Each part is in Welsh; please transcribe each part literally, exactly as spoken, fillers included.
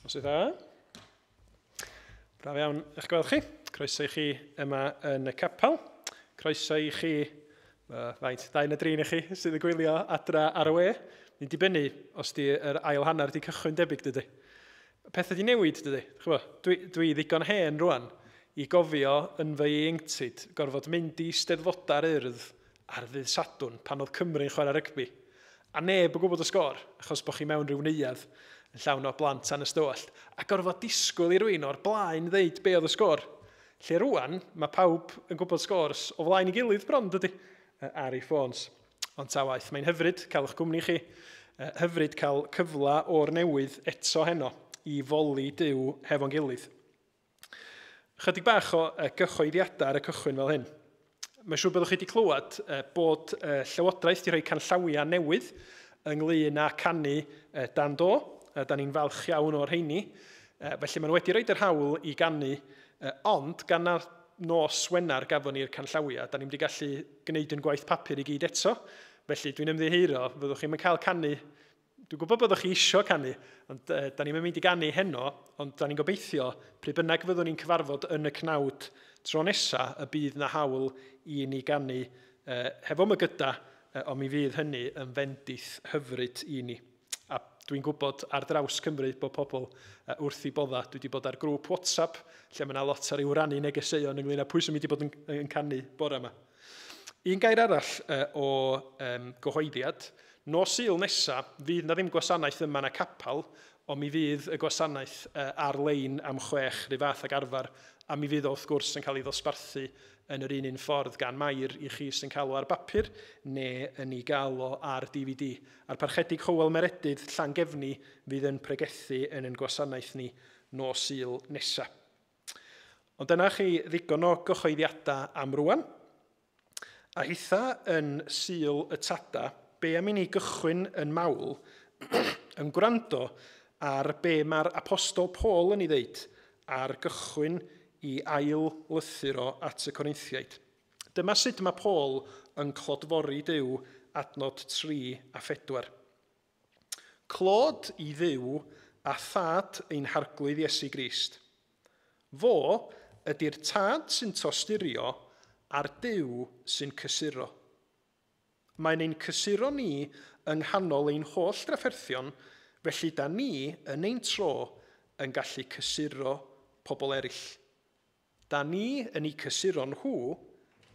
Noswaith dda. Braf iawn eich gweld chi. Croeso i chi yma yn y capel. Croeso i chi, uh, faint, dau neu dri i chi sydd yn gwylio adra ar y we. Ni'n dibynnu os di yr ail hanner di cychwyn debyg, dydy. Pethau di newid, dydy. Ch'bo, dwi, dwi ddigon hen rwan i gofio yn fy ieuenctid gorfod mynd i Steddfodau'r Urdd ar ddydd Sadwrn pan oedd Cymru'n chwarae rygbi. A neb yn gwybod y sgôr, achos bod chi mewn rhyw neuadd yn llawn o blant anystywallt, a gorfod disgwyl i rywun o'r blaen ddeud be oedd y sgôr. Lle rwan, mae pawb yn gwybod sgôrs o flaen ei gilydd bron, dydy, ar ei ffôns. Ond ta waeth, mae'n hyfryd cael eich gwmni chi, hyfryd cael cyfle o'r newydd eto heno i foli Duw hefo'n gilydd. Chydig bach o gyhoeddiadau ar y cychwyn fel hyn. Mae'n siŵr byddwch chi wedi clywed bod Llywodraeth wedi rhoi canllawiau newydd ynglyn â canu dan do. Da ni'n falch iawn o'r rheini. Felly maen nhw wedi rhoi yr hawl i ganu, ond gan na nos Wener gafon ni'r canllawiau, da ni'n wedi gallu gwneud yn gwaith papur i gyd eto. Felly dwi'n ymddiheuro, fyddwch chi'n cael canu. Dwi'n gwybod byddwch chi isio canu, ond uh, da ni'n mynd i ganu heno, ond da ni'n gobeithio pryd bynnag fyddwn ni'n cyfarfod yn y cnawd tro nesa y bydd na hawl i ni ganu uh, hefo mygyda, uh, ond mi fydd hynny yn fendith hyfryd i ni. A dwi'n gwybod ar draws Cymru bod pobl uh, wrth i bodda. Dwi wedi bod ar grŵp WhatsApp lle mae yna lot ar i'w rannu negeseuon ynglyn â pwy sy'n mynd i bod yn, yn canu bore yma. Un gair arall uh, o um, gyhoeddiad, nos Sul nesa fydd na ddim gwasanaeth yma yn y capel, ond mi fydd y gwasanaeth uh, ar-lein am chwech rhyw fath ag arfer, a mi fydd o wrth gwrs yn cael ei ddosbarthu yn yr un un ffordd gan Mair i chi sy'n cael o ar bapur neu yn ei gael o ar D V D. A'r Parchedig Hywel Meredydd Llangefni fydd yn pregethu yn ein gwasanaeth ni nos Sul nesa. Ond dyna chi ddigon o gyhoeddiadau am rwan. A hitha yn Sul y Tada, be am i ni gychwyn yn mawl yn gwrando ar be mae'r Apostol Paul yn ei ddeud ar gychwyn i ail lythyr o at y Corinthiaid. Dyma sut mae Paul yn clodfori Duw adnod tri a phedwar. Clod i Dduw a thad ein harglwydd Iesu Grist. Fo ydy'r tad sy'n tosturio a'r Duw sy'n cysuro. Mae'n ein cysuro ni yng nghanol ein holl drafferthion, felly da ni yn ein tro yn gallu cysuro pobl eraill. Da ni yn eu cysuro nhw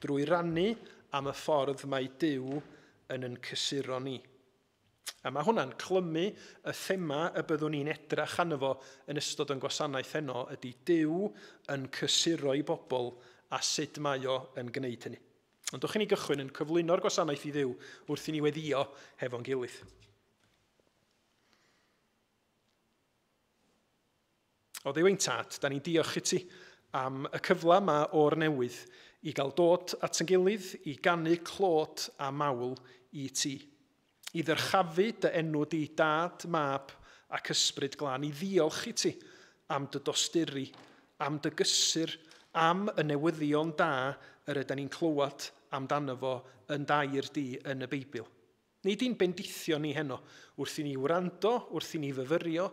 drwy rannu am y ffordd mae Duw yn yn cysuro ni. A mae hwnna'n clymu y thema y byddwn ni'n edrach arno fo yn ystod yn gwasanaeth heno ydy Duw yn cysuro i bobl a sut mae o yn gwneud hynny. Ond dwch i ni gychwyn yn cyflwyno'r gwasanaeth i Dduw wrth i ni weddïo hefo'n gilydd. O Dduw ein tad, da ni'n diolch i ti am y cyfle yma o'r newydd i gael dod at ein gilydd, i ganu clod a mawl i ti. I ddyrchafu dy enw di dad, mab ac ysbryd glân, i ddiolch i ti am dy dosturi, am dy gysur, am y newyddion da yr ydyn ni'n clywed amdano fo yn dair di yn y Beibl. Nid i'n bendithio ni heno, wrth i ni wrando, wrth i ni fyfyrio,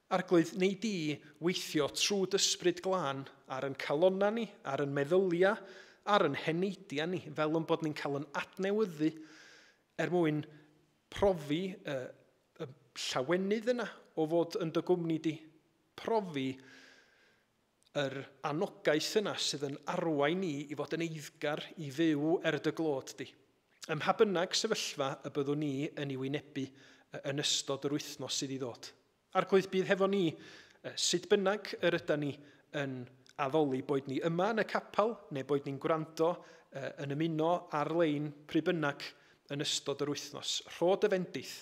Arglwydd, neu di weithio trwy ysbryd glân ar yn calonna ni, ar yn meddylia, ar yn heneidia ni, fel yn bod ni'n cael yn adnewyddu er mwyn profi y, y llawenydd yna o fod yn dy gwmni di, profi yr anogaeth yna sydd yn arwain ni i fod yn eiddgar i fyw er dy glod di. Ym mha bynnag sefyllfa y byddwn ni yn ei wynebu yn ystod yr wythnos sydd i ddod. Arglwydd, bydd hefo ni, sut bynnag yr ydan ni yn addoli, boed ni yma yn y capel, neu boed ni'n gwrando yn ymuno ar-lein pryd bynnag yn ystod yr wythnos. Rho dy fendith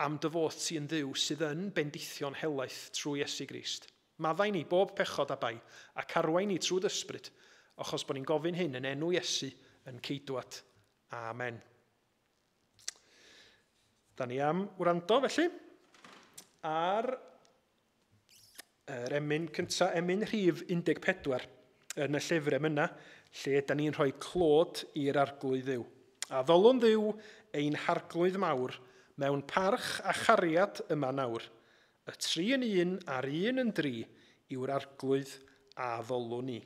am dy fod ti yn Dduw sydd yn bendithio'n helaeth trwy Iesu Grist. Maddau ni bob pechod a bai, ac arwain ni trwy ysbryd, achos bod ni'n gofyn hyn yn enw Iesu yn ceidwad. Amen. Da ni am wrando felly ar yr emyn cynta, emyn rhif un deg pedwar yn y llyfr emyna, lle da ni'n rhoi clod i'r Arglwydd Dduw. A ddolwn Dduw ein harglwydd mawr mewn parch a chariad yma nawr, Y tri yn un a'r un yn dri yw'r arglwydd a ddolwn ni.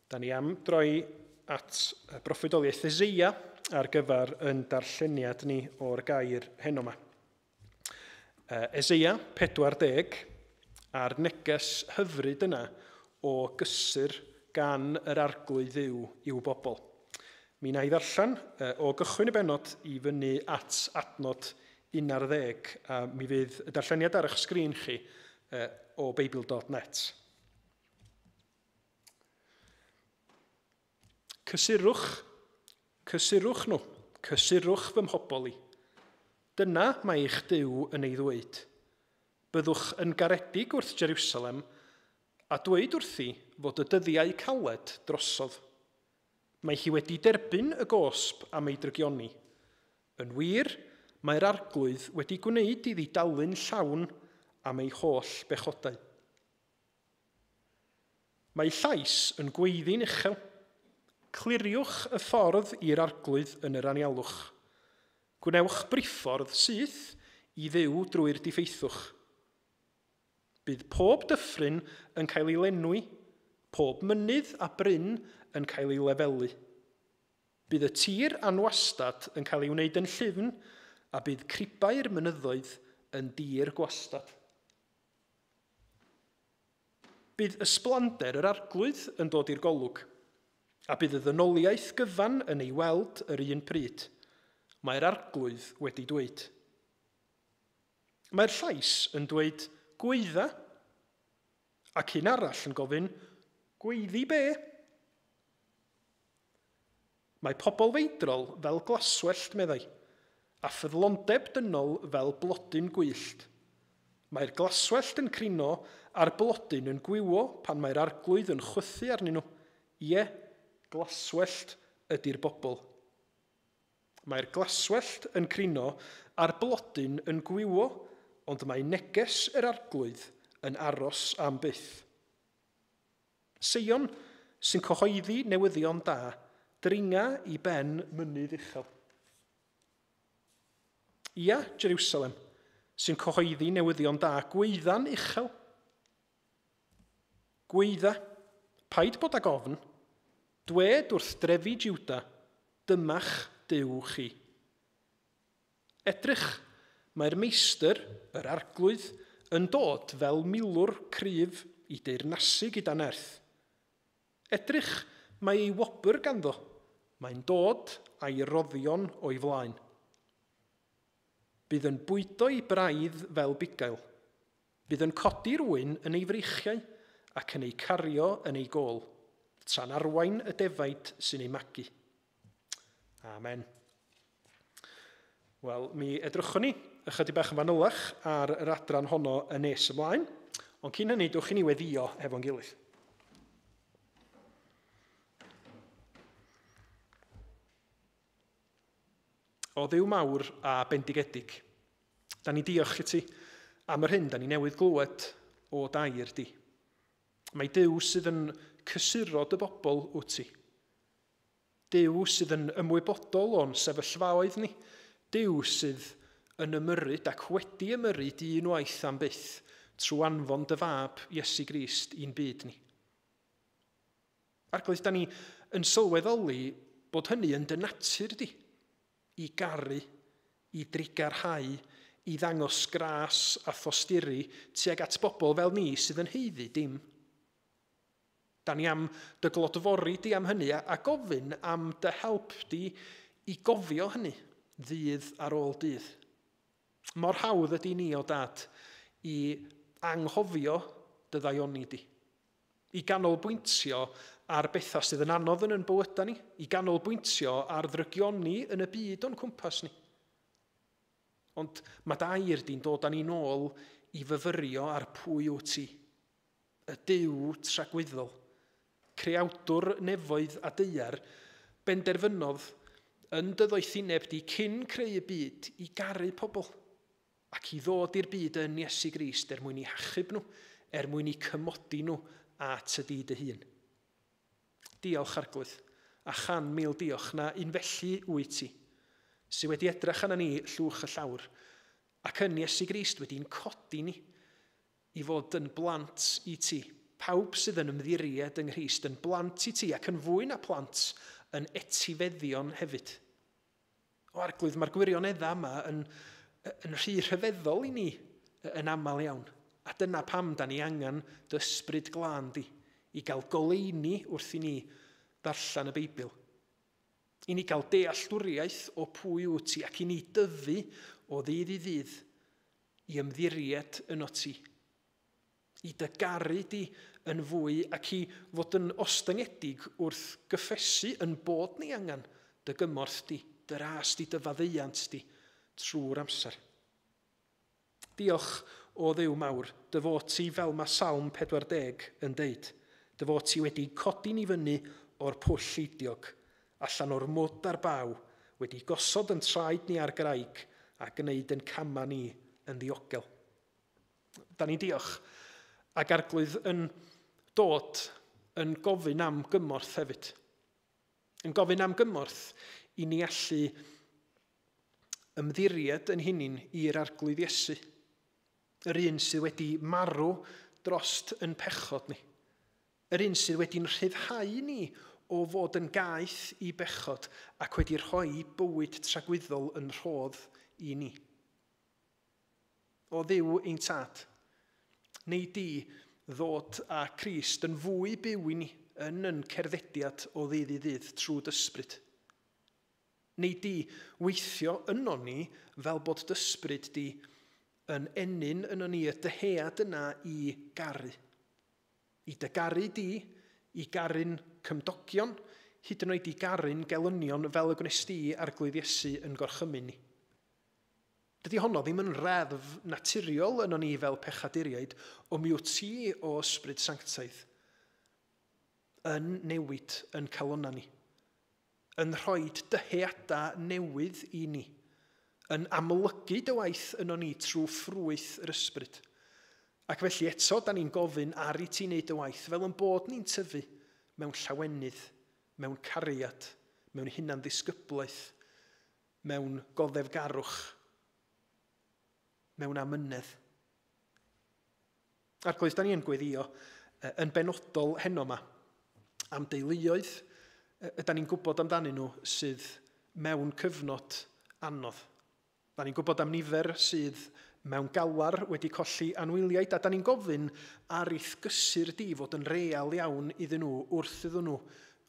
Da ni am droi at broffwydoliaeth Eseia ar gyfer yn darlleniad ni o'r gair heno yma. Eseia pedwar deg a'r neges hyfryd yna o gysur gan yr arglwydd Dduw i'w bobl. Mi wna i ddarllen o gychwyn y bennod i fyny at adnod un ar ddeg, a mi fydd y darlleniad ar eich sgrin chi o beibl dot net. Cysurwch, cysurwch nhw, cysurwch fy mhobol i. Dyna mae eich Duw yn ei ddweud. Byddwch yn garedig wrth Jerusalem a dweud wrthi fod y dyddiau caled drosodd. Mae hi wedi derbyn y gosb am ei drygioni. Yn wir, mae'r arglwydd wedi gwneud iddi dalu'n llawn am ei holl bechodau. Mae llais yn gweiddi'n uchel. Cliriwch y ffordd i'r arglwydd yn yr anialwch. Gwnewch briffordd syth i Dduw drwy'r diffeithwch. Bydd pob dyffryn yn cael ei lenwi, pob mynydd a bryn yn cael ei lefelu. Bydd y tir anwastad yn cael ei wneud yn llyfn, a bydd cribau'r mynyddoedd yn dir gwastad. Bydd ysblander yr arglwydd yn dod i'r golwg, a bydd y ddynoliaeth gyfan yn ei weld yr un pryd. Mae'r arglwydd wedi dweud. Mae'r llais yn dweud gweidda, ac un arall yn gofyn, gweiddi be? Mae pobl feidrol fel glaswellt, meddai, a ffyddlondeb dynol fel blodyn gwyllt. Mae'r glaswellt yn crino a'r blodyn yn gwywo pan mae'r arglwydd yn chwythu arnyn nhw. Ie, glaswellt ydy'r bobl. Mae'r glaswellt yn crino a'r blodyn yn gwywo, ond mae neges yr arglwydd yn aros am byth. Seion sy'n cyhoeddi newyddion da, dringa i ben mynydd uchel. Ia, Jerusalem, sy'n cyhoeddi newyddion da, gweidda'n uchel. Gweidda, paid bod ag ofn, dwed wrth drefi Juda, dyma'ch Duw chi. Edrych, mae'r meistr, yr arglwydd, yn dod fel milwr cryf i deyrnasu gyda nerth. Edrych, mae ei wobr ganddo, mae'n dod a'i roddion o'i flaen. Bydd yn bwydo ei braidd fel bugail. Bydd yn codi'r ŵyn yn ei freichiau ac yn ei cario yn ei gôl, tra'n arwain y defaid sy'n ei magu. Amen. Wel, mi edrychwn ni ychydig bach yn fanylach ar yr adran honno yn nes ymlaen, ond cyn hynny, dwch i ni weddïo efo'n gilydd. O Dduw mawr a bendigedig, da ni diolch i ti am yr hyn da ni newydd glywed o dair di. Mae Duw sydd yn cysuro dy bobl wyt ti. Duw sydd yn ymwybodol o'n sefyllfaoedd ni. Duw sydd yn ymyrryd ac wedi ymyrryd unwaith am byth trwy anfon dy fab Iesu Grist i'n byd ni. Arglwydd, da ni yn sylweddoli bod hynny yn dy natur di, i garu, i drugarhau, i ddangos gras a thosturi tuag at bobl fel ni sydd yn haeddu dim. Da ni am dy glodfori di am hynny a, a gofyn am dy help di i gofio hynny ddydd ar ôl dydd. Mor hawdd ydy ni o dad i anghofio dy ddaioni di, i ganolbwyntio ar bethau sydd yn anodd yn yn bywydau ni, i ganolbwyntio ar ddrygioni yn y byd o'n cwmpas ni. Ond mae dair di'n dod â ni nôl i fyfyrio ar pwy wyt ti, y Duw tragwyddol, creawdwr nefoedd a daear, benderfynodd yn dy ddoethineb di cyn creu y byd i garu pobl ac i ddod i'r byd yn Iesu Grist er mwyn i hachub nhw, er mwyn i cymodi nhw at y di dy hun. Diolch Arglwydd, a chan mil diolch na un felly wyt ti, sydd wedi edrych arna ni llwch y llawr, ac yn Iesu Grist wedi'n codi ni i fod yn blant i ti. Pawb sydd yn ymddiried yng Nghrist yn blant i ti ac yn fwy na plant yn etifeddion hefyd. O Arglwydd, mae'r gwirioneddau yma yn, yn rhy rhyfeddol i ni yn aml iawn. A dyna pam da ni angen dy ysbryd glân di, i gael goleuni wrth i ni ddarllen y Beibl. I ni gael dealltwriaeth o pwy wyt ti ac i ni dyfu o ddydd i ddydd i ymddiried yno ti. I dy garu di yn fwy ac i fod yn ostyngedig wrth gyffesu yn bod ni angen dy gymorth di, dy ras di, dy faddeuant di trwy'r amser. Diolch o Dduw mawr, dy fod ti fel mae Salm pedwar deg yn deud, dy fod ti wedi codi ni fyny o'r pwll eidiog, allan o'r mwd a'r baw, wedi gosod yn traed ni ar graig a gwneud yn cama ni yn ddiogel. Da ni'n diolch ac Arglwydd yn dod yn gofyn am gymorth hefyd. Yn gofyn am gymorth i ni allu ymddiried yn hunin i'r Arglwydd Iesu, yr un sydd wedi marw drost yn pechod ni, yr un sydd wedi'n rhyddhau ni o fod yn gaeth i bechod ac wedi rhoi bywyd tragwyddol yn rhodd i ni. O Dduw ein tad, neu di ddod â Crist yn fwy byw i ni yn yn cerddediad o ddydd i ddydd trwy dysbryd. Neu di weithio yno ni fel bod dysbryd di yn ennyn yno ni y dyhead yna i garu. I dy garu di, i garu'n cymdogion, hyd yn oed i garu'n gelynion fel y gwnes di Arglwydd Iesu yn gorchymyn ni. Dydy honno ddim yn reddf naturiol yno ni fel pechaduriaid, ond mi wyt ti o Ysbryd Sanctaidd yn newid yn calonna ni, yn rhoi dyheadau newydd i ni, yn amlygu dy waith yno ni trwy ffrwyth yr ysbryd. Ac felly eto, da ni'n gofyn ar i ti wneud dy waith fel yn bod ni'n tyfu mewn llawenydd, mewn cariad, mewn hunanddisgyblaeth, mewn goddefgarwch, mewn amynedd. Arglwydd, da ni yn gweddio yn benodol heno yma am deuluoedd ydan ni'n gwybod amdanyn nhw sydd mewn cyfnod anodd. Da ni'n gwybod am nifer sydd mewn galar wedi colli anwyliaid, a da ni'n gofyn ar i'th gysur di fod yn real iawn iddyn nhw wrth iddyn nhw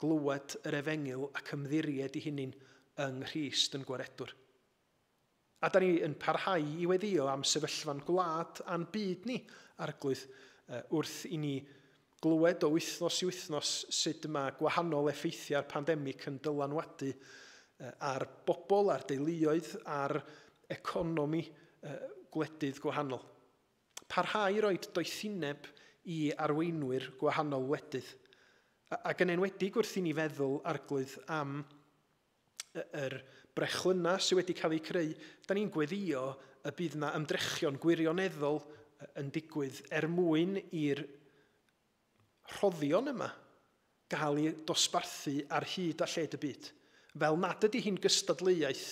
glywed yr efengyl ac ymddiried i hunain yng Nghrist yn gwaredwr. A da ni yn parhau i weddio am sefyllfa'n gwlad a'n byd ni, Arglwydd, wrth i ni glywed o wythnos i wythnos sut mae gwahanol effeithiau'r pandemig yn dylanwadu ar bobl, ar deuluoedd, ar economi gwledydd gwahanol. Parhau i roed doethineb i arweinwyr gwahanol wledydd. Ac yn enwedig wrth i ni feddwl, Arglwydd, am yr brechlynau sydd wedi cael eu creu, da ni'n gweddio y bydd yna ymdrechion gwirioneddol yn digwydd er mwyn i'r rhoddion yma gael eu dosbarthu ar hyd a lled y byd. Fel nad ydy hi'n gystadleuaeth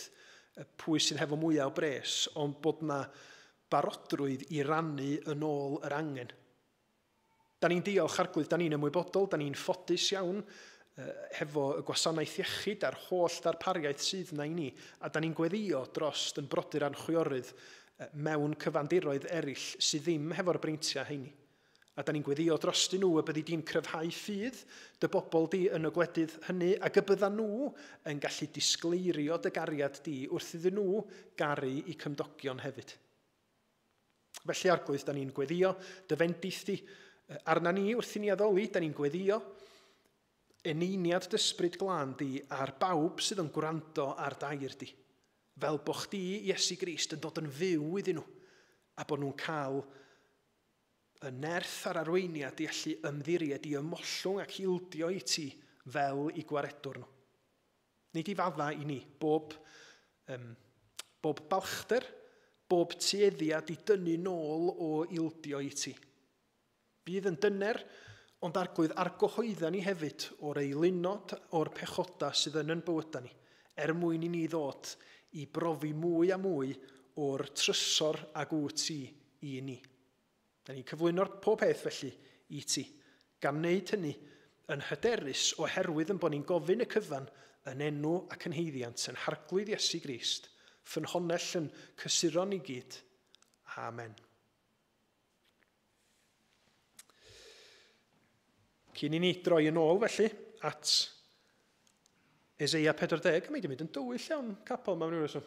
pwy sydd hefo mwyaf o bres, ond bod yna barodrwydd i rannu yn ôl yr angen. Da ni'n diolch, Arglwydd, da ni'n ymwybodol, da ni'n ffodus iawn hefo y gwasanaeth iechyd a'r holl ddarpariaeth sydd yna i ni, a da ni'n gweddio dros yn brodyr a'n chwiorydd mewn cyfandiroedd eraill sydd ddim hefo'r breintiau heini. A da ni'n gweddio drostyn nhw y byddi di'n cryfhau ffydd dy bobl di yn y gwledydd hynny, ac y bydda nhw yn gallu disgleirio dy gariad di wrth iddyn nhw garu i cymdogion hefyd. Felly, Arglwydd, da ni'n gweddio dy fendith di arna ni wrth i ni addoli, da ni'n gweddio eneiniad dy ysbryd glân di ar bawb sydd yn gwrando ar dair di, fel bo chdi, Iesu Grist, yn dod yn fyw iddyn nhw, a bod nhw'n cael y nerth a'r arweiniad i allu ymddiried i ymollwng ac ildio i ti fel i gwaredwr nhw. Nid i fadda i ni bob, um, bob balchder, bob tueddiad i dynnu nôl o ildio i ti. Bydd yn dyner, ond Arglwydd argyhoedda ni hefyd o'r eilunod o'r pechoda sydd yn yn bywyda ni, er mwyn i ni ddod i brofi mwy a mwy o'r trysor ag wyt ti i ni. Da ni'n cyflwyno'r pob peth felly i ti, gan wneud hynny yn hyderus oherwydd yn bod ni'n gofyn y cyfan yn enw ac yn haeddiant yn Harglwydd Iesu Grist, ffynhonnell yn cysuron i gyd. Amen. Cyn i ni droi yn ôl felly at Eseia pedwar deg, mae wedi mynd yn dywyll iawn capel mewn rhyw reswm.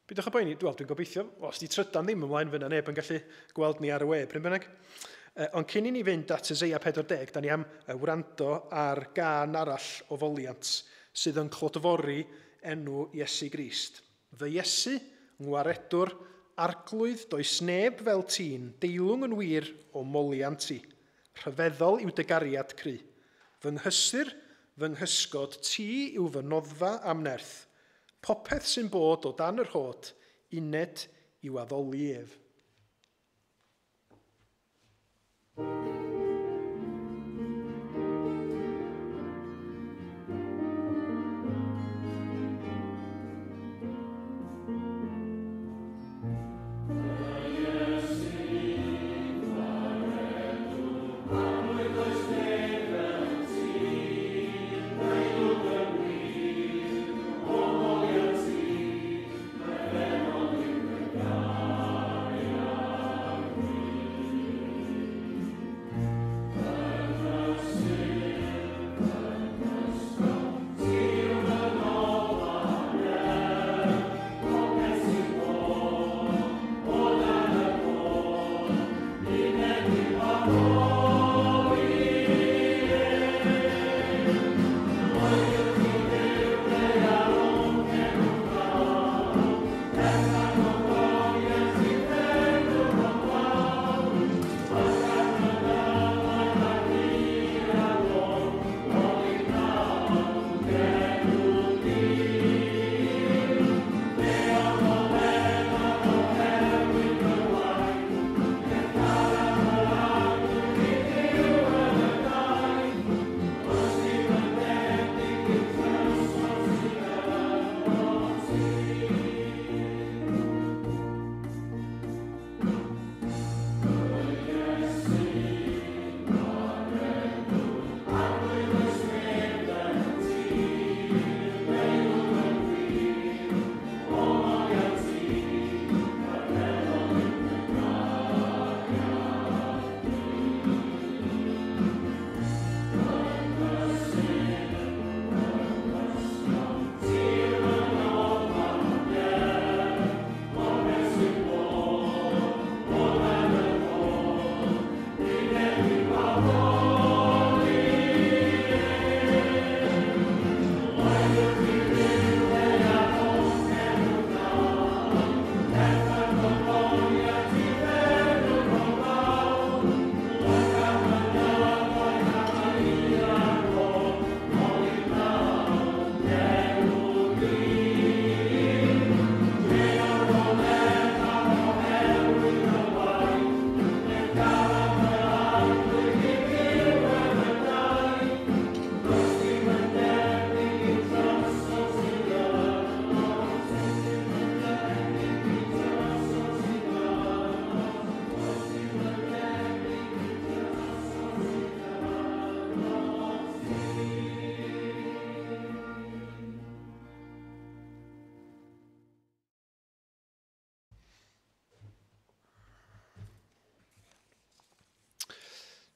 Bydwch yn boeni, wel, dwi'n gobeithio, os di trydan ddim ymlaen fyna neb yn gallu gweld ni ar y we, pryn bynnag. Ond cyn i ni fynd at Eseia pedwar deg, da ni am wrando ar gân arall o foliant sydd yn clodfori enw Iesu Grist. Fy Iesu, ngwaredwr, Arglwydd, does neb fel ti'n, deilwng yn wir o moliant ti. Rhyfeddol yw dy gariad cry. Fy nghysur, fy nghysgod, ti yw fy noddfa am nerth. Popeth sy'n bod o dan yr hod, uned i'w addoli ef. Amen.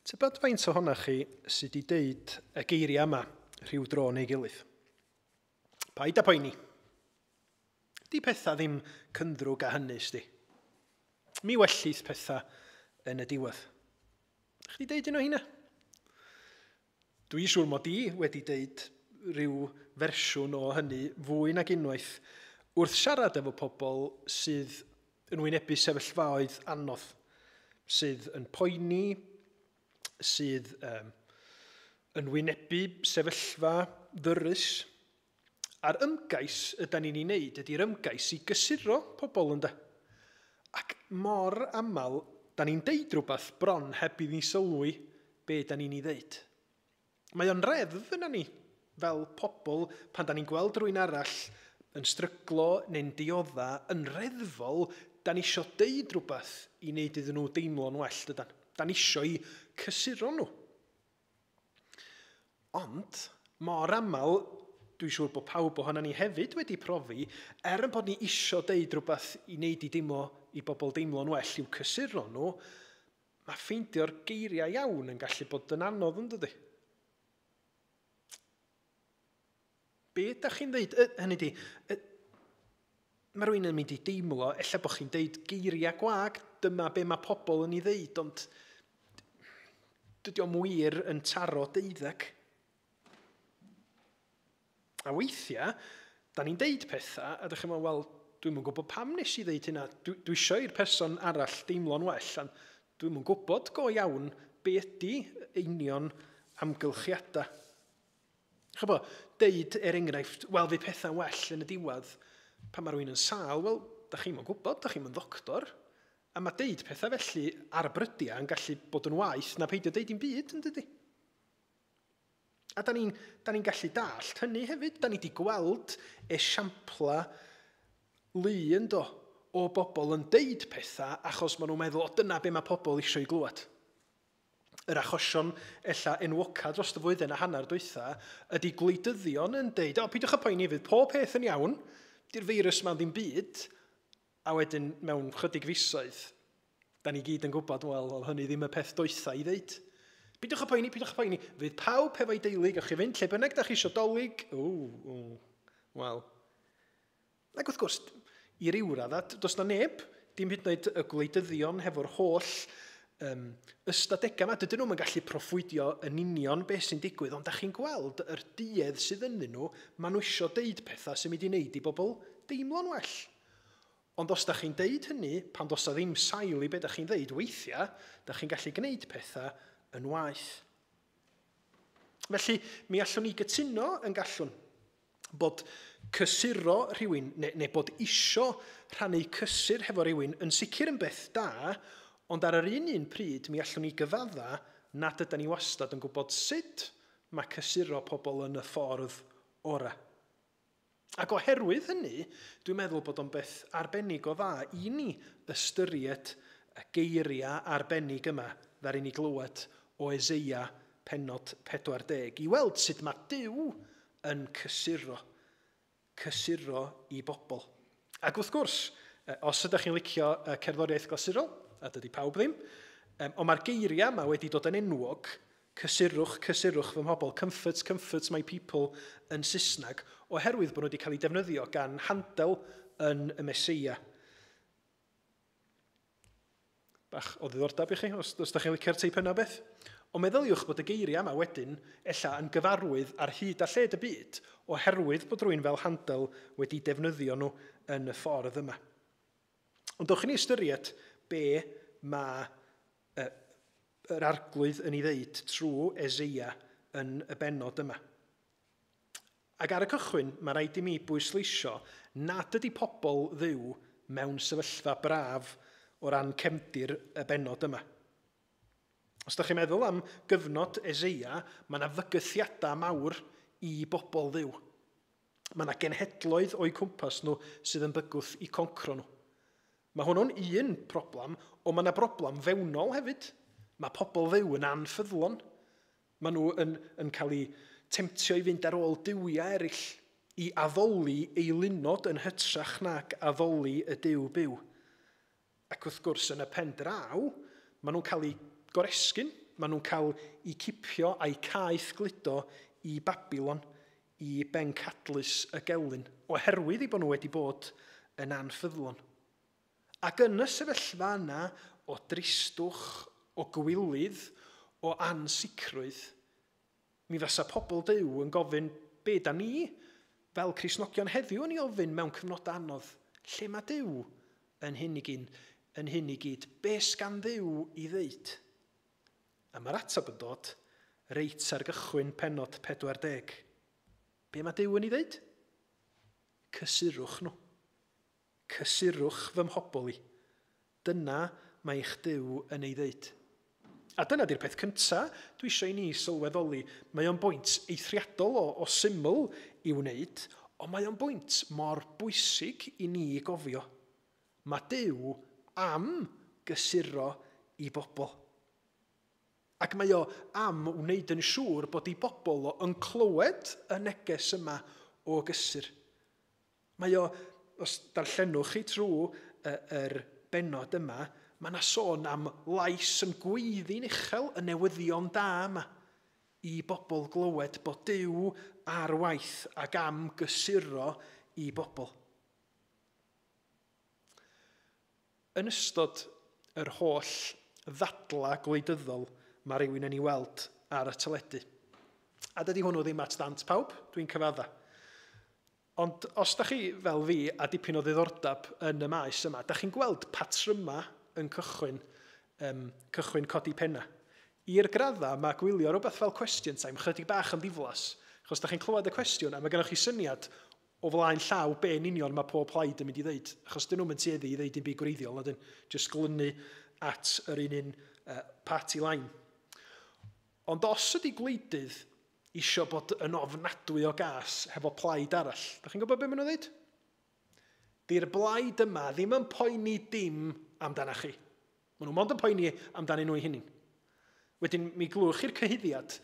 Tybed faint ohonoch chi sydd wedi deud y geiriau yma rhyw dro neu gilydd? Paid â poeni. Di pethau ddim cynddrwg â hynny, sdi. Mi wellith pethau yn y diwedd. Chdi deud un o hynna? Dwi'n siŵr mod i wedi deud rhyw fersiwn o hynny fwy nag unwaith wrth siarad efo pobl sydd yn wynebu sefyllfaoedd anodd, sydd yn poeni, sydd um, yn wynebu sefyllfa ddyrys. A'r ymgais ydan ni'n ei wneud ydy'r ymgais i gysuro pobl, ynde. Ac mor aml, da ni'n deud rhywbeth bron heb i ni sylwi be da ni'n ei ddeud. Mae o'n reddf yna ni, fel pobl, pan da ni'n gweld rhywun arall yn stryglo neu'n diodda, yn reddfol, da ni isio deud rhywbeth i wneud iddyn nhw deimlo'n well, dydan. Da ni isio i cysuro nhw. Ond, mor aml, dwi'n siŵr bod pawb ohono ni hefyd wedi profi, er yn bod ni isio deud rhywbeth i wneud i deimlo, i bobl deimlo'n well i'w cysuro nhw, mae ffeindio'r geiriau iawn yn gallu bod yn anodd, yn dydi? Be ydych chi'n dweud? Hynny di, mae rhywun yn mynd i deimlo, ella bod chi'n deud geiriau gwag, dyma be mae pobl yn ei ddeud, ond dydy o'm wir yn taro deuddeg. A weithiau, da ni'n deud pethau, a dych chi'n meddwl, wel, dwi'm yn gwybod pam nes i ddeud hynna. Dwi, dwi isio i'r person arall deimlo'n well, a dwi'm yn gwybod go iawn be ydy union amgylchiadau. Chybod, deud er enghraifft, wel, fydd pethau'n well yn y diwedd, pan mae rhywun yn sâl, wel, da chi'm yn gwybod, da chi'm yn ddoctor. A mae deud pethau felly ar brydiau yn gallu bod yn waeth na peidio deud dim byd, yn dydi? A da ni'n da ni gallu dallt hynny hefyd. Da ni wedi gweld esiampla lu yn do o bobl yn deud pethau achos maen nhw'n meddwl, o dyna be mae pobl eisiau ei glywed. Yr achosion ella enwoca dros y flwyddyn a hanner dwytha ydy gwleidyddion yn deud, o, peidiwch â poeni, fydd pob peth yn iawn, di'r feirws ma'n ddim byd, a wedyn mewn chydig fisoedd, da ni gyd yn gwybod, wel, oedd hynny ddim y peth doetha i ddeud. Peidiwch â poeni, peidiwch â poeni, fydd pawb hefo'i deulu, gewch chi fynd lle bynnag da chi isio Dolig, o, o, wel. Ac wrth gwrs, i ryw radda, does na neb, dim hyd yn oed y gwleidyddion hefo'r holl um, ystadegau yma, dydyn nhw'm yn gallu proffwydio yn union beth sy'n digwydd, ond da chi'n gweld yr duedd sydd ynddyn nhw, maen nhw isio deud pethau sy'n mynd i wneud i bobl deimlo'n well. Ond os da chi'n deud hynny, pan does na ddim sail i beth da chi'n deud, weithiau, da chi'n gallu gwneud pethau yn waeth. Felly, mi allwn ni gytuno yn gallwn bod cysuro rhywun, neu, neu bod isio rhannu cysur hefo rhywun yn sicr yn beth da, ond ar yr un un pryd mi allwn ni gyfadda nad ydan ni wastad yn gwybod sut mae cysuro pobl yn y ffordd orau. Ac oherwydd hynny, dwi'n meddwl bod o'n beth arbennig o dda i ni ystyried y geiriau arbennig yma ddaru ni glywed o Eseia pennod pedwar deg, i weld sut mae Duw yn cysuro, cysuro i bobl. Ac wrth gwrs, os ydych chi'n licio cerddoriaeth glasurol, a dydy pawb ddim, ond mae'r geiriau yma wedi dod yn enwog, cysurwch, cysurwch fy mhobl, comfort, comfort my people yn Saesneg, oherwydd bod nhw wedi cael eu defnyddio gan Handel yn y Meseia. Bach o ddiddordeb i chi, os, os ydych chi'n licio'r teip yna beth. Ond meddyliwch bod y geiriau yma wedyn ella yn gyfarwydd ar hyd a lled y byd, oherwydd bod rhywun fel Handel wedi defnyddio nhw yn y ffordd yma. Ond dowch i ni ystyried be mae uh, yr Arglwydd yn ei ddeud trwy Eseia yn y bennod yma. Ac ar y cychwyn, mae rhaid i mi bwysleisio nad ydy pobl Dduw mewn sefyllfa braf o ran cefndir y bennod yma. Os ydych chi'n meddwl am gyfnod Eseia, mae yna fygythiadau mawr i bobl Dduw. Mae yna genhedloedd o'u cwmpas nhw sydd yn bygwth i concro nhw. Mae hwnnw'n un broblem, ond mae yna broblem fewnol hefyd. Mae pobl Dduw yn anffyddlon. Maen nhw yn, yn cael eu temtio i fynd ar ôl duwiau eraill, i addoli eilunod yn hytrach nag addoli y Duw byw. Ac wrth gwrs, yn y pen draw, maen nhw'n cael eu goresgyn. Maen nhw'n cael eu cipio a'i caeth gludo i Babilon, i bencadlys y gelyn, oherwydd eu bod nhw wedi bod yn anffyddlon. Ac yn y sefyllfa yna o dristwch, o gwilydd, o ansicrwydd, mi fysa pobl Duw yn gofyn be da ni fel Cristnogion heddiw yn ei ofyn mewn cyfnod anodd. Lle mae Duw yn hyn i gyd? Yn hyn i gyd? Be sgan Dduw i ddeud? A mae'r ateb yn dod reit ar gychwyn pennod pedwar deg. Be mae Duw yn ei ddeud? Cysurwch nhw. Cysurwch fy mhobl i. Dyna mae eich Duw yn ei ddeud. A dyna di'r peth cyntaf dwi eisiau i ni sylweddoli. Mae o'n bwynt eithriadol o, o syml i wneud, ond mae o'n bwynt mor bwysig i ni gofio. Mae Duw am gysuro i bobl. Ac mae o am wneud yn siŵr bod i bobl o yn clywed y neges yma o gysur. Mae o, os darllenwch chi trwy yr bennod yma, mae yna sôn am lais yn gweiddi'n uchel y newyddion da yma i bobl glywed bod Duw ar waith ac am gysuro i bobl. Yn ystod yr holl ddadla gwleidyddol mae rhywun yn ei weld ar y teledu. A dydy hwnnw ddim at ddant pawb, dwi'n cyfadda. Ond os da chi fel fi a dipyn o ddiddordeb yn y maes yma, da chi'n gweld patryma yn cychwyn, um, cychwyn codi penna. I'r gradda mae gwylio rhywbeth fel question time chydig bach yn ddiflas, achos da chi'n clywed y cwestiwn a mae gennych chi syniad o flaen llaw be yn union mae pob plaid yn mynd i ddeud, achos dyn nhw'n tueddu i ddeud dim byd gwreiddiol, na dyn, jyst glynu at yr un un uh, party line. Ond os ydy gwleidydd isio bod yn ofnadwy o gas hefo plaid arall, da chi'n gwybod be maen nhw'n dweud? Di'r blaid yma ddim yn poeni dim amdana chi. Maen nhw mond yn poeni amdanyn nhw eu hunain. Wedyn mi glywch chi'r cyhuddiad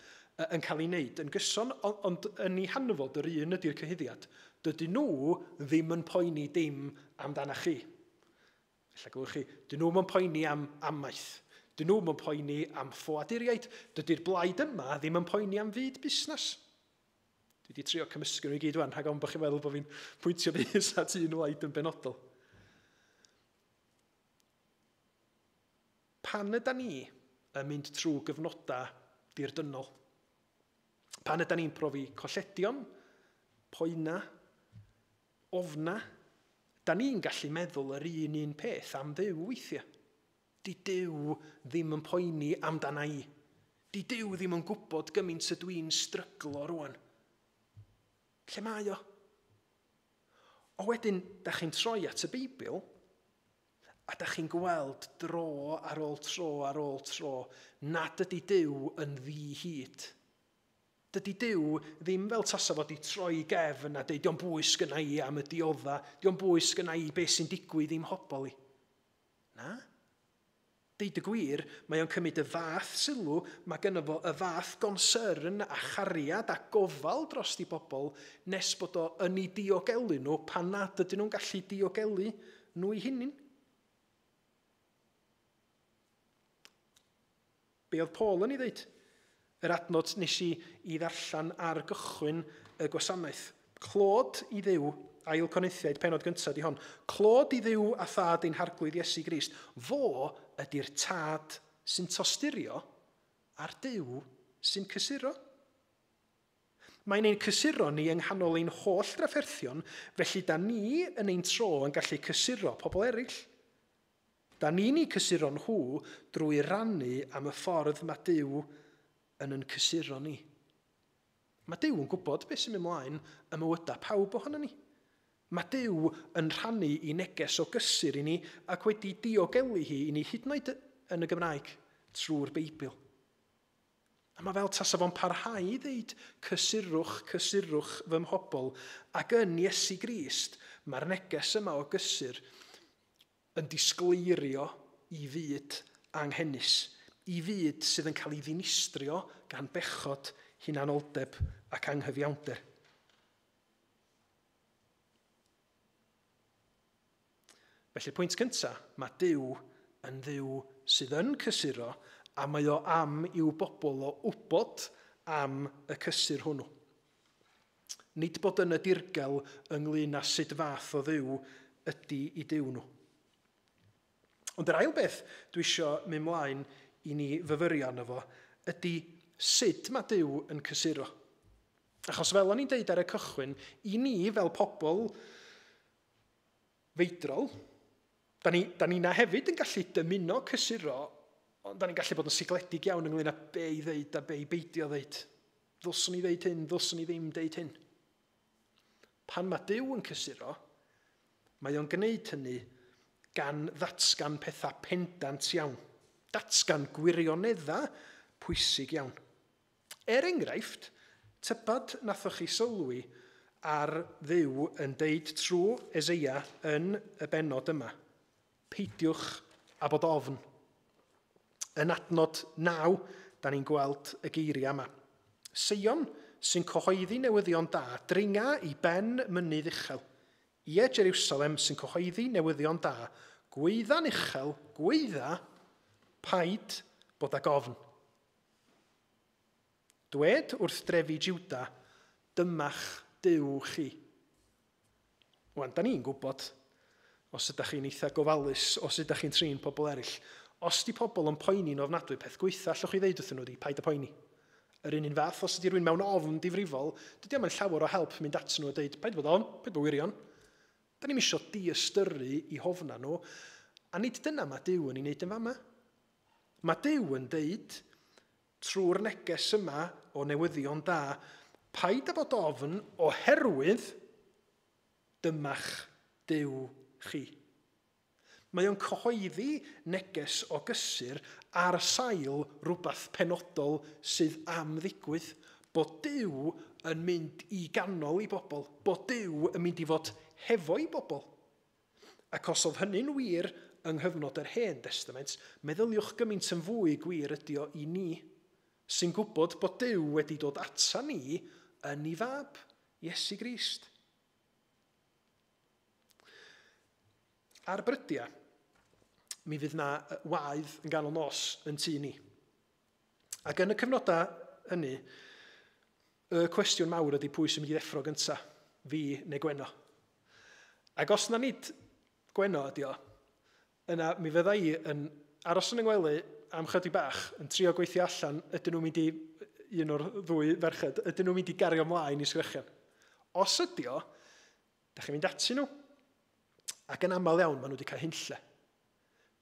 yn cael ei wneud yn gyson, ond yn ei hanfod yr un ydy'r cyhuddiad. Dydyn nhw ddim yn poeni dim amdana chi. Ella glywch chi, dyn nhw'm yn poeni am amaeth. Dyn nhw'm yn poeni am ffoaduriaid. Dydy'r blaid yma ddim yn poeni am fyd busnes. Dwi wedi trio cymysgu nhw i gyd wan, rhag ofn bod chi'n meddwl bod fi'n pwyntio bys at un wlaid yn benodol. Pan yda ni yn mynd trwy gyfnodau dirdynnol? Pan yda ni'n profi colledion, poena, ofna, da ni'n gallu meddwl yr un un peth am Dduw weithiau. Di Duw ddim yn poeni amdana i. Di Duw ddim yn gwybod gymaint ydw i'n stryglo rwan. Lle mae o? O wedyn, da chi'n troi at y Beibl, a da chi'n gweld dro ar ôl tro ar ôl tro nad ydy Duw yn ddi-hid. Dydy Duw ddim fel tasa fod i troi gefn a deud, dio'm bwys gynna i am y diodda, dio'm bwys gynna i beth sy'n digwydd i'm hobol i. Na. Deud y gwir, mae o'n cymryd y fath sylw, mae gynno fo y fath gonsern a chariad a gofal dros i bobl nes bod o yn ei diogelu nhw pan nad ydyn nhw'n gallu diogelu nhw eu hunain. Be oedd Paul yn ei ddeud? Yr adnod nes i i ddarllen ar gychwyn y gwasanaeth. Clod i Dduw, ail Corinthiaid, pennod gyntaf di hon. Clod i Dduw a thad ein harglwydd Iesu Grist. Fo ydy'r tad sy'n tosturio a'r Duw sy'n cysuro. Mae'n ein cysuro ni yng nghanol ein holl drafferthion, felly da ni yn ein tro yn gallu cysuro pobl eraill. Da ni'n eu cysuro nhw drwy rannu am y ffordd mae Duw yn yn cysuro ni. Mae Duw yn gwybod beth sy'n mynd mlaen ym mywydau pawb ohono ni. Mae Duw yn rhannu i neges o gysur i ni ac wedi diogelu hi i ni hyd yn oed yn y Gymraeg trwy'r Beibl. A mae fel tasa fo'n parhau i ddeud cysurwch, cysurwch fy mhobl, ac yn Iesu Grist mae'r neges yma o gysur yn disgleirio i fyd anghenus, i fyd sydd yn cael ei ddinistrio gan bechod, hunanoldeb ac anghyfiawnder. Felly, pwynt cyntaf, mae Duw yn Dduw sydd yn cysuro A mae o am i'w bobl o wybod am y cysur hwnnw. Nid bod yn y dirgel ynglyn â sut fath o Dduw ydy i Duw nhw. Ond yr ail beth dwi isio mynd mlaen i ni fyfyrio arno fo ydy sut mae Duw yn cysuro. Achos fel o'n i'n deud ar y cychwyn, i ni fel pobl feidrol, da ni, da ni na hefyd yn gallu dymuno cysuro, ond da ni'n gallu bod yn sigledig iawn ynglyn â be i ddeud a be i beidio ddeud. Ddylswn i ddeud hyn, ddylswn i ddim deud hyn. Pan mae Duw yn cysuro, mae o'n gwneud hynny gan ddatgan pethau pendant iawn. Datgan gwirioneddau pwysig iawn. Er enghraifft, tybad nathoch chi sylwi ar Dduw yn deud trwy Eseia yn y bennod yma. Peidiwch â bod ofn. Yn adnod naw, da ni'n gweld y geiriau yma. Seion sy'n cyhoeddi newyddion da, dringa i ben mynydd uchel. Ie, Jerusalem sy'n cyhoeddi newyddion da, gweidda'n uchel, gweidda, paid bod ag ofn. Dwed wrth drefi Juda, dyma'ch Duw chi. Wan, da ni'n gwybod, os ydych chi'n eitha gofalus, os ydych chi'n trin pobl eraill, os di pobl yn poeni'n ofnadwy, peth gweitha allwch chi ddeud wrthyn nhw di, paid â poeni. Yr un un fath, os ydy rhywun mewn ofn difrifol, dydy o'm yn llawer o help mynd at nhw a deud, paid bod ofn, paid bod wirion. Da ni'm isio diystyru i hofna nhw, a nid dyna mae Duw yn ei wneud yn fama. Mae Duw yn deud, trwy'r neges yma o newyddion da, paid â bod ofn oherwydd dyma'ch Duw chi. Mae o'n cyhoeddi neges o gysur ar sail rhywbeth penodol sydd am ddigwydd, bod Duw yn mynd i ganol i bobl, bod Duw yn mynd i fod hefo i bobl. Ac os oedd hynny'n wir yng nghyfnod yr Hen Testament, meddyliwch gymaint yn fwy gwir ydy o i ni, sy'n gwybod bod Duw wedi dod ata ni yn ei fab, Iesu Grist. Ar brydiau, mi fydd na waedd yn ganol nos yn tŷ ni. Ac yn y cyfnodau hynny, y cwestiwn mawr ydy pwy sy'n mynd i ddeffro gyntaf, fi neu Gwenno. Ac os na nid Gwenno ydy o, yna mi fydda i yn aros yn 'y ngwely am chydig bach, yn trio gweithio allan, ydyn nhw'n mynd i, un o'r ddwy ferched, ydyn nhw'n mynd i gario ymlaen i sgrechian. Os ydy o, da chi'n mynd atyn nhw, ac yn aml iawn maen nhw wedi cael hunlle.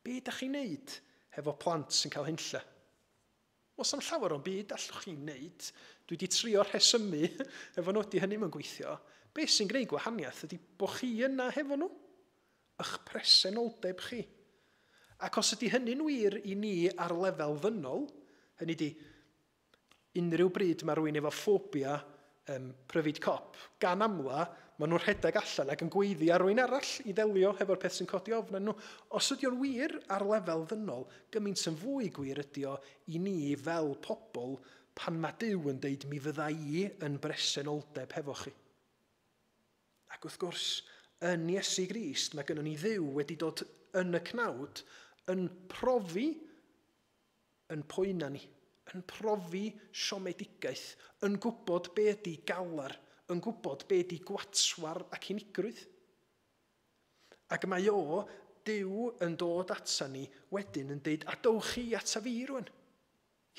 Be da chi'n neud hefo plant sy'n cael hunlle? Os am llawer o'n byd allwch chi'n neud, dwi wedi trio rhesymu efo nhw, ydy hynny mewn gweithio. Be sy'n gwneud gwahaniaeth ydy bod chi yna hefo nhw, eich presenoldeb chi. Ac os ydy hynny'n wir i ni ar lefel ddynol, hynny ydy unrhyw bryd mae rhywun efo ffobia um, pryfid cop, gan amla, maen nhw'n rhedeg allan ac yn gweiddi ar rhywun arall i ddelio hefo'r peth sy'n codi ofn arnyn nhw. Os ydy o'n wir ar lefel ddynol, gymaint yn fwy gwir ydy o i ni fel pobl pan mae Duw yn deud mi fydda i yn bresenoldeb hefo chi. Ac wrth gwrs, yn Iesu Grist, mae gynnon ni Dduw wedi dod yn y cnawd yn profi yn poena ni, yn profi siomedigaeth, yn gwybod be ydy galar, yn gwybod be ydy gwatwar ac unigrwydd. Ac mae o, Duw, yn dod ata ni wedyn yn deud, a dowch chi ata fi rwan.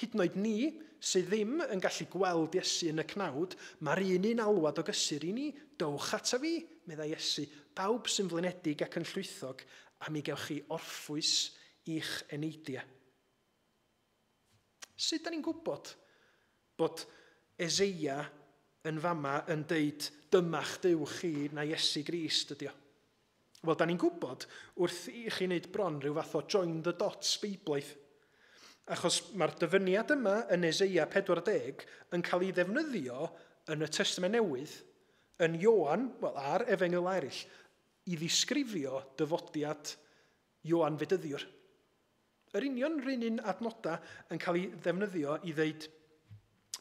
Hyd yn oed ni, sydd ddim yn gallu gweld Iesu yn y cnawd, mae'r un un alwad o gysur i ni, dowch ata fi, meddai Iesu, bawb sy'n flinedig ac yn llwythog, a mi gewch chi orffwys i'ch eneidiau. Sut da ni'n gwybod bod Eseia yn fama yn deud dyma'ch Duw chi na Iesu Grist ydy o? Wel, da ni'n gwybod wrth i chi wneud bron rhyw fath o join the dots beiblaidd. Achos mae'r dyfyniad yma yn Eseia pedwar deg yn cael ei ddefnyddio yn y Testament Newydd, yn Ioan, wel, a'r Efengyl eraill, i ddisgrifio dyfodiad Ioan Fedyddiwr. Yr union r'un un adnoda yn cael ei ddefnyddio i ddeud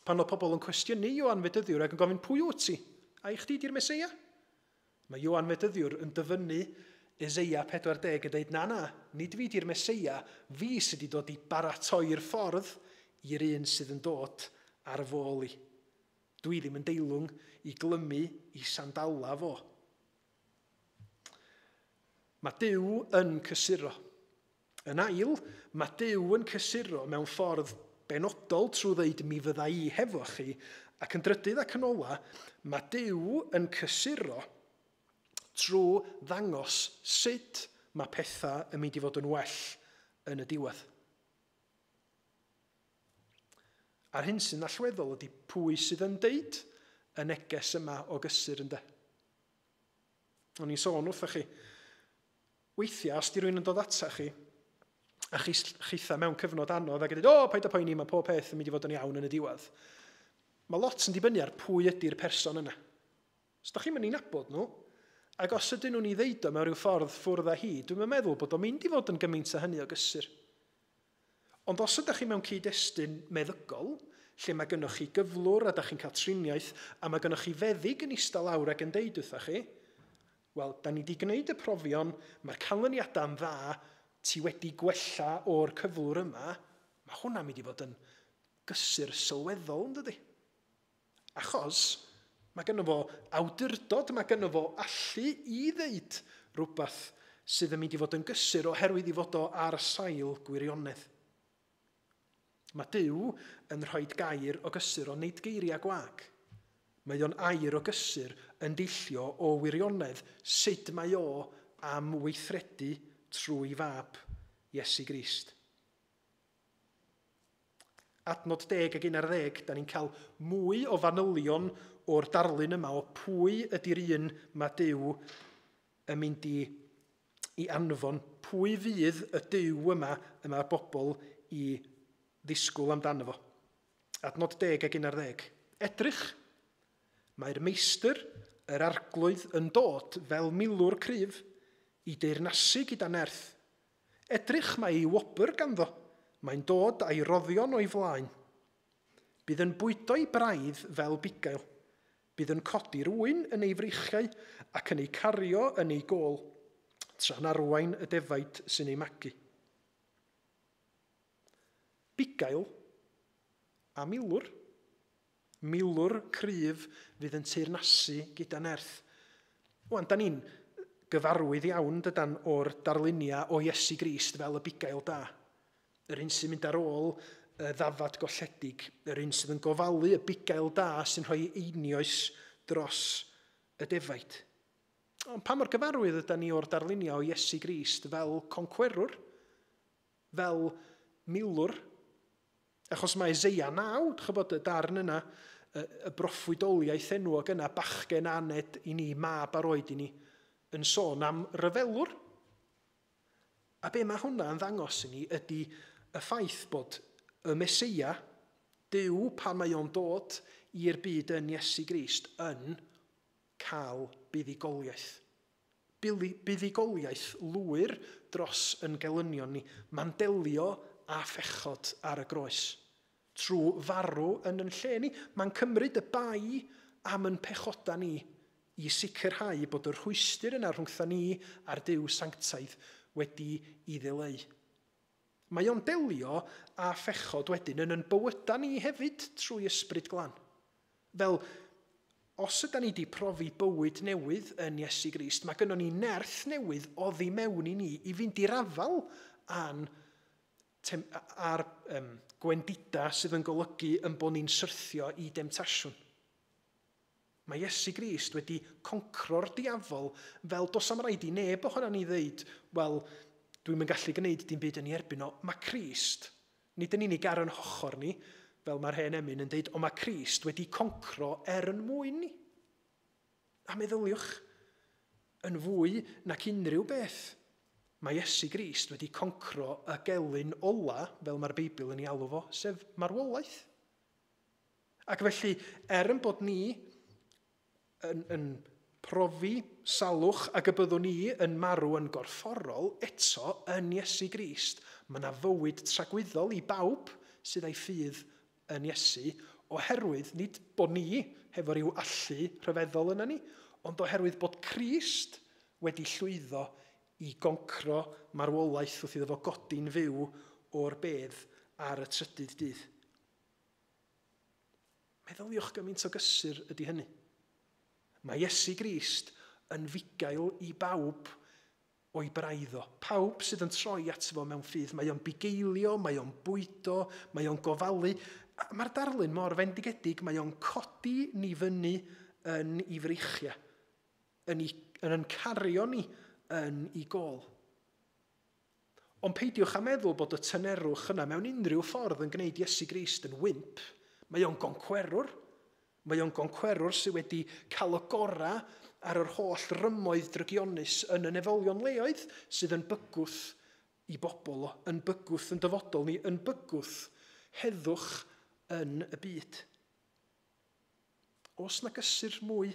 pan oedd pobl yn cwestiynu Ioan Fedyddiwr ac yn gofyn pwy wyt ti? A i chdi di'r Meseia? Mae Ioan Fedyddiwr yn dyfynnu Eseia pedwar deg yn dweud, na na, nid fi di'r Meseia, fi sydd wedi dod i baratoi'r ffordd i'r un sydd yn dod ar fôl i. Dwi ddim yn deilwng i glymu i sandala fo. Mae Duw yn cysuro. Yn ail, mae Duw yn cysuro mewn ffordd benodol trwy ddeud mi fydda i hefo chi, ac yn drydydd ac yn ola, mae Duw yn cysuro trwy ddangos sut mae pethau yn mynd i fod yn well yn y diwedd. A'r hyn sy'n allweddol ydy pwy sydd yn deud y neges yma o gysur ynde. O'n i'n sôn wrthoch chi, weithiau os di rhywun yn dod ata chi, a chi chitha mewn cyfnod anodd ac yn dweud, o, paid â poeni, mae pob peth yn mynd i fod yn iawn yn y diwedd. Mae lot yn dibynnu ar pwy ydy'r person yna. Os da chi'n mynd i nabod nhw, ac os ydyn nhw'n ei ddeud o mewn rhyw ffordd ffwrdd â hi, dwi'n meddwl bod o'n mynd i fod yn gymaint â hynny o gysur. Ond os ydych chi mewn cyd-destun meddygol, lle mae gennych chi gyflwr a ydych chi'n cael triniaeth, a mae gennych chi feddyg yn eistedd lawr ac yn deud wrthoch chi, wel, da ni wedi gwneud y profion, mae'r canlyniadau'n dda, ti wedi gwella o'r cyflwr yma, mae hwnna'n mynd i fod yn gysur sylweddol, yn dydi? Achos mae gynno fo awdurdod, mae gynno fo allu i ddeud rhywbeth sydd yn mynd i fod yn gysur oherwydd i fod o ar sail gwirionedd. Mae Duw yn rhoi gair o gysur, ond nid geiriau gwag. Mae o'n air o gysur yn deillio o wirionedd sut mae o am weithredu trwy fab Iesu Grist. Adnod deg ag un ar ddeg, da ni'n cael mwy o fanylion o'r darlun yma o pwy ydy'r un mae Duw yn mynd i, i anfon, pwy fydd y Duw yma y mae'r bobl i ddisgwyl amdano fo. Adnod deg ag un ar ddeg. Edrych, mae'r meistr, yr arglwydd, yn dod fel milwr cryf i deyrnasu gyda nerth. Edrych, mae ei wobr ganddo. Mae'n dod a'i roddion o'i flaen. Bydd yn bwydo'i braidd fel bugail. Bydd yn codi'r ŵyn yn ei freichiau ac yn ei cario yn ei gôl, tra'n arwain y defaid sy'n ei magu. Bugail a milwr. Milwr cryf fydd yn teyrnasu gyda nerth. Wan, da ni'n gyfarwydd iawn dydan o'r darluniau o Iesu Grist fel y bugail da. Yr un sy'n mynd ar ôl y ddafad golledig, yr un sydd yn gofalu y bugail da sy'n rhoi einioes dros y defaid. Ond pa mor gyfarwydd ydan ni o'r darluniau o Iesu Grist fel concwerwr, fel milwr? Achos mae Eseia naw, chybod y darn yna, y, y broffwydoliaeth enwog yna, bachgen aned i ni, mab ar oed i ni, yn sôn am ryfelwr. A be mae hwnna yn ddangos i ni ydy y ffaith bod y Meseia, Duw pan mae o'n dod i'r byd yn Iesu Grist, yn cael buddugoliaeth. Buddugoliaeth lwyr dros yn gelynion ni. Mae'n delio a phechod ar y groes. Trwy farw yn yn lle ni, mae'n cymryd y bai am yn pechoda ni i sicrhau bod y rhwystr yna rhwngtha ni a'r Duw sanctaidd wedi i ddileu. Mae o'n delio â phechod wedyn yn yn bywyda ni hefyd trwy ysbryd glân. Fel, os yda ni wedi profi bywyd newydd yn Iesu Grist, mae gynnon ni nerth newydd oddi mewn i ni i fynd i'r afal a'n a'r um, gwendida sydd yn golygu yn bod ni'n syrthio i demtasiwn. Mae Iesu Grist wedi concro'r diafol fel dos am raid i neb ohono ni ddeud, wel, dwi'm yn gallu gwneud dim byd yn ei erbyn o. Mae Crist, nid yn unig ar yn hochor ni, fel mae'r hen emyn yn deud, ond mae Crist wedi concro er yn mwyn ni. A meddyliwch, yn fwy nac unrhyw beth, mae Iesu Grist wedi concro y gelyn ola, fel mae'r Beibl yn ei alw fo, sef marwolaeth. Ac felly, er yn bod ni yn, yn profi salwch ac y byddwn ni yn marw yn gorfforol, eto yn Iesu Grist, mae yna fywyd tragwyddol i bawb sydd â'i ffydd yn Iesu, oherwydd nid bod ni hefo rhyw allu rhyfeddol yna ni, ond oherwydd bod Crist wedi llwyddo i goncro marwolaeth wrth iddo fo godi'n fyw o'r bedd ar y trydydd dydd. Meddyliwch gymaint o gysur ydy hynny. Mae Iesu Grist yn fugail i bawb o'i braidd o. Pawb sydd yn troi ato fo mewn ffydd. Mae o'n bugeilio, mae o'n bwydo, mae o'n gofalu. Mae'r darlun mor fendigedig, mae o'n codi ni fyny yn ei freichiau, yn, ei, yn yn cario ni yn ei gôl. Ond peidiwch â meddwl bod y tynerwch yna mewn unrhyw ffordd yn gwneud Iesu Grist yn wymp. Mae o'n goncwerwr. Mae o'n goncwerwr sydd wedi cael y gorau ar yr holl rymoedd drygionus yn y nefolion leoedd sydd yn bygwth i bobl o, yn bygwth yn dyfodol ni, yn bygwth heddwch yn y byd. Oes na gysur mwy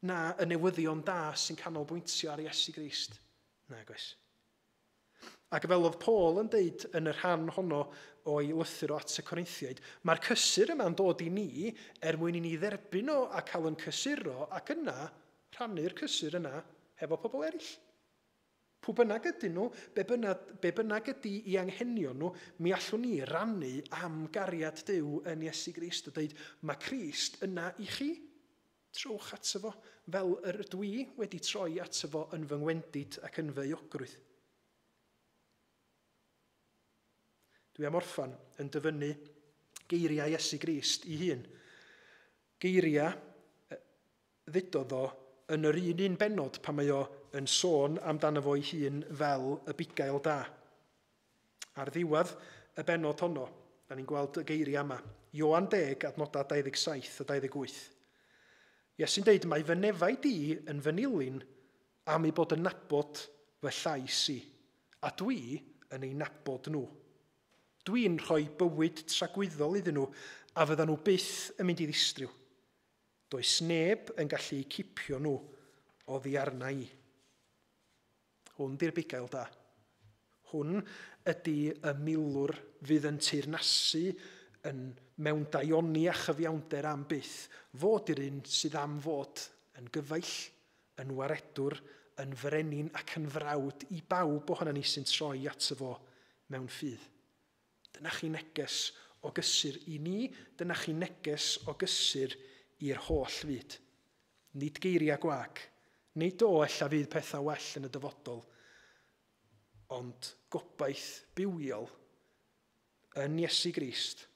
na y newyddion da sy'n canolbwyntio ar Iesu Grist? Nag oes. Ac fel oedd Paul yn deud yn y rhan honno o'i lythyr o at y Corinthiaid, mae'r cysur yma'n dod i ni er mwyn i ni dderbyn o a cael yn cysuro ac yna rhannu'r cysur yna hefo pobl eraill. Pwy bynnag ydyn nhw, be bynnag, be bynnag ydy i anghenion nhw, mi allwn ni rannu am gariad Duw yn Iesu Grist a dweud, mae Crist yna i chi. Trowch ato fo, fel yr ydw i wedi troi ato fo yn fy ngwendid ac yn fy euogrwydd. Dwi am orffan yn dyfynnu geiriau Iesu Grist i hun. Geiriau ddudodd o yn yr un un bennod pan mae o yn sôn amdano fo'i hun fel y bugail da. Ar ddiwedd y bennod honno, da ni'n gweld y geiriau yma. Ioan deg, adnodau dau ddeg saith a dau ddeg wyth. Iesu'n deud, mae fy nefaid i yn fy nilyn am ei bod yn nabod fy llais i, a dwi yn ei nabod nhw. Dwi'n rhoi bywyd tragwyddol iddyn nhw a fyddan nhw byth yn mynd i ddistryw. Does neb yn gallu cipio nhw oddi arna i. Hwn di'r bugail da. Hwn ydy y milwr fydd yn teyrnasu yn mewn daioni a chyfiawnder am byth. Fod i'r un sydd am fod yn gyfaill, yn waredwr, yn frenin ac yn frawd i bawb ohono ni sy'n troi ato fo mewn ffydd. Dyna chi neges o gysur i ni, dyna chi neges o gysur i'r holl fyd. Nid geiriau gwag, nid o ella fydd pethau well yn y dyfodol, ond gobaith bywiol yn Iesu Grist.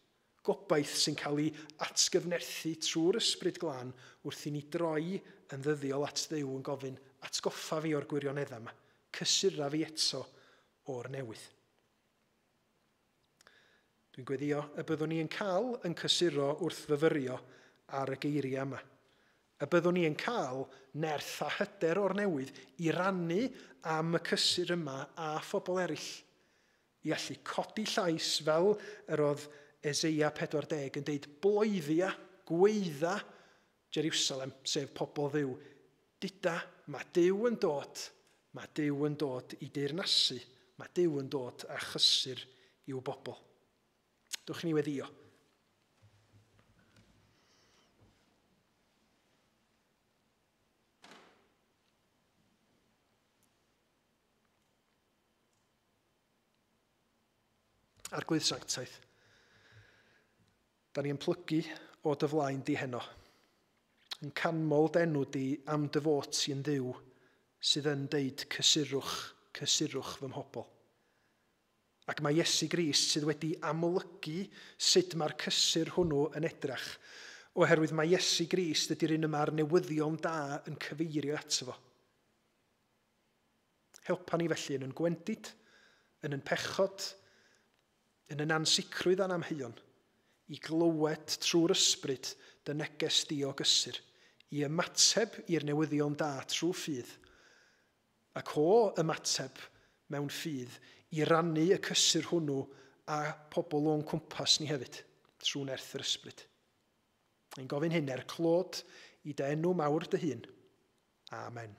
Gobaith sy'n cael ei atgyfnerthu trwy'r Ysbryd Glân wrth i ni droi yn ddyddiol at Dduw yn gofyn, atgoffa fi o'r gwirioneddau yma, cysura fi eto o'r newydd. Dwi'n gweddio y byddwn ni yn cael yn cysuro wrth fyfyrio ar y geiriau yma. Y byddwn ni yn cael nerth a hyder o'r newydd i rannu am y cysur yma a phobl eraill. I allu codi llais fel yr oedd Eseia pedwar deg yn deud bloeddia, gweidda Jerusalem, sef pobl Dduw. Duda, mae Duw yn dod, mae Duw yn dod i deyrnasu, mae Duw yn dod â chysur i'w bobl. Dwch ni weddio. Arglwydd Sanctaidd, da ni yn plygu o dy flaen di heno, yn canmol d'enw di am dy fod ti yn Dduw sydd yn deud cysurwch, cysurwch fy mhobl. Ac mae Iesu Grist sydd wedi amlygu sut mae'r cysur hwnnw yn edrach, oherwydd mae Iesu Grist ydy'r un yma'r newyddion da yn cyfeirio ato fo. Helpa ni felly yn yn gwendid, yn yn pechod, yn yn ansicrwydd a'n amheuon, i glywed trwy'r ysbryd dy neges di o gysur, i ymateb i'r newyddion da trwy ffydd, ac o ymateb mewn ffydd i rannu y cysur hwnnw a pobl o'n cwmpas ni hefyd, trwy nerth yr ysbryd. Ein gofyn hyn er clod i dy enw mawr dy hun. Amen.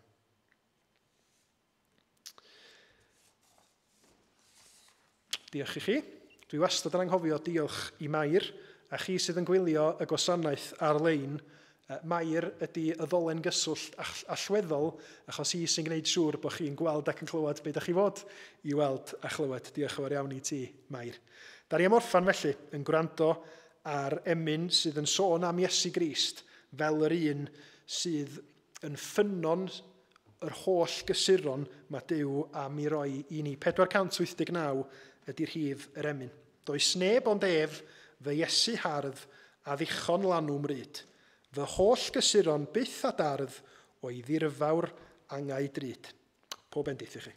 Diolch i chi. Dwi wastad yn anghofio diolch i Mair a chi sydd yn gwylio y gwasanaeth ar-lein Mair ydy y ddolen gyswllt allweddol, achos hi sy'n gwneud siŵr bod chi'n gweld ac yn clywed beth ydych chi fod i weld a chlywed. Diolch yn fawr iawn i ti, Mair. Da ni am orffan felly yn gwrando ar emyn sydd yn sôn am Iesu Grist fel yr un sydd yn ffynnon yr holl gysuron mae Duw am i roi i ni. pedwar cant wyth deg naw ydy'r rhif yr emyn. Does neb ond ef, fy Iesu hardd, a ddichon lanw mryd. Fy holl gysuron byth a dardd o'i ddirfawr angau drud. Pob bendith i chi.